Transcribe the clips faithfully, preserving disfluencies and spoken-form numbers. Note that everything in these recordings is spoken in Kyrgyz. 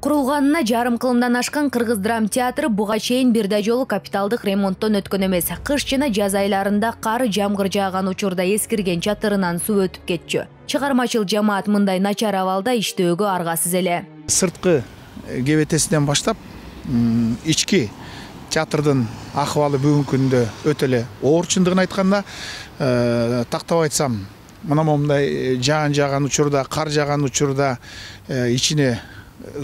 Курулганына жарым кылымдан ашкан Кыргыз драм театры буга чейин бир да жолу капиталдык ремонттон өткөн эмес. Кыш жана жаз айларында кар жамгыр жааган учурда эскирген чатырынан суу өтүп кетчү. Чыгармачыл жамаат мындай начар абалда иштөөгө аргасыз эле. Сырткы кебетесинен баштап ички театрдын акыбалы бүгүнкү күндө өтө эле оор. Чындыгын айтканда, тактап айтсам, мына момундай жаан жааган учурда, кар жааган учурда ичине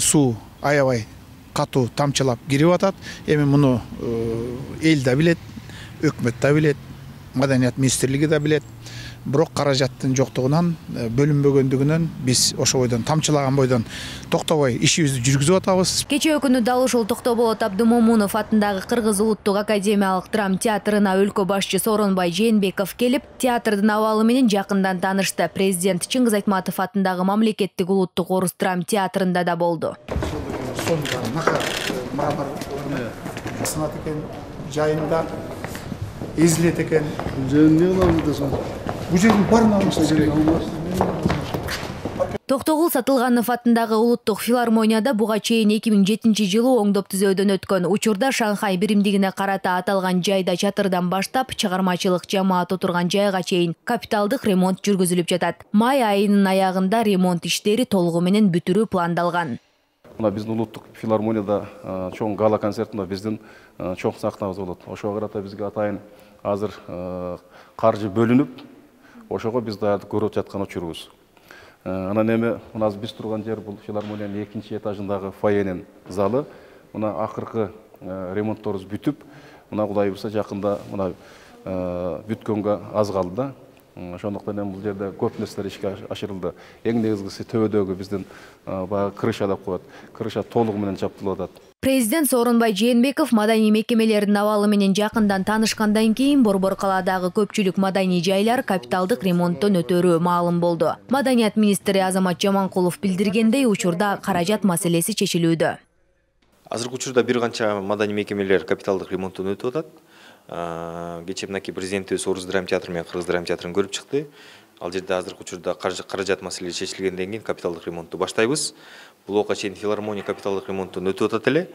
суу аябай катуу тамчылап кирип атат. Эми муну эл да билет, өкмөт да билет, Маданият министрлиги да билет. Бирок каражаттын жоктугунан, бөлүнбөгөндүгүнөн биз ошо бойдон тамчылаган бойдон токтобой ишибизди жүргүзүп атабыз. Кечээ күнү дал ушул Токтоболот Абдымомунов атындагы Кыргыз улуттук академиялык драм театрына өлкө башчы Сооронбай Жээнбеков келип, театрдын абалы менен жакындан таанышты. Президент Чыңгыз Айтматов атындагы Мамлекеттик улуттук орус драм театрында да болду. Сынат экен, жайында эзилет экен. Бул жердин баарын алыш керек. Токтогул Сатылганов атындагы улуттук филармонияда буга чейин эки миң жетинчи жылы оңдоп түзөөдөн өткөн учурда Шанхай биримдигине карата аталган жайда чатырдан баштап чыгармачылык жамаат отурган жайга чейин капиталдык ремонт жүргүзүлүп жатат. Май айынын аягында ремонт иштери толугу менен бүтүрүү пландалган. Мына биздин улуттук филармонияда чоң гала концертинде биздин чоң сахнабыз болот. Ошого карата бизге атайын азыр каржы бөлүнүп, ошого биз даярдык көрүп жаткан учурубуз. Анан эми мына биз турган жер бул филармониянын экинчи этажындагы фойенин залы. Мына акыркы ремонтторубуз бүтүп, мына Кудай буйрса жакында мына бүткөнгө аз калды да. Ошондуктан эми бул жерде көп нерселер ишке ашырылды. Эң негизгиси төбөдөгү биздин баягы крыша деп коет. Крыша толугу менен чаптырылып атат. Президент Сооронбай Жээнбеков маданий мекемелердин абалы менен жакындан таанышкандан кийин Борбор калаадагы көпчүлүк маданий жайлар капиталдык ремонттон өтөрү маалым болду. Маданият министри Азамат Жаманкулов билдиргендей, учурда каражат маселеси чечилүүдө. Азыркы учурда бир канча маданий мекемелер капиталдык ремонттон өтүп атат. Кечээ мынакей президентибиз орус драм театры менен кыргыз драм театрын көрүп чыкты. Ал жерде азыркы учурда каражат маселеси чечилгенден кийин капиталдык ремонтту баштайбыз. Бул ока чейин филармония капиталдык ремонттон өтүп атат эле.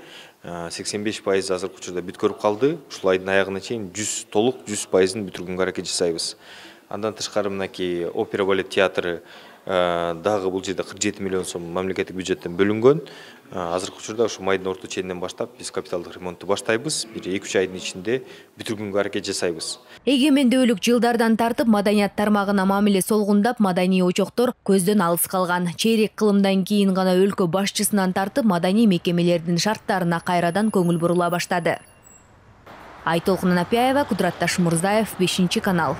сексен беш пайыз азыркы учурда бүткөрүп калды. Ушул айдын аягына чейин жүз толук жүз пайызын бүтүргөнгө аракет жасайбыз. Андан тышкары мынакей опера балет театры дагы бул жерде кырк жети миллион сом мамлекеттик бюджеттен бөлүнгөн. Азыркы учурда ушу майдын орто ченинен баштап биз капиталдык ремонтту баштайбыз. Бир эки үч айдын ичинде бүтүргөнгө аракет жасайбыз. Эгемендүүлүк жылдардан тартып маданият тармагына мамиле солгундап, маданий очоктор көздөн алыс калган. Чейрек кылымдан кийин гана өлкө башчысынан тартып маданий мекемелердин шарттарына кайрадан көңүл бурула баштады. Айтолкун Анапияева, Кудурат Ташмурзаев, бешинчи канал.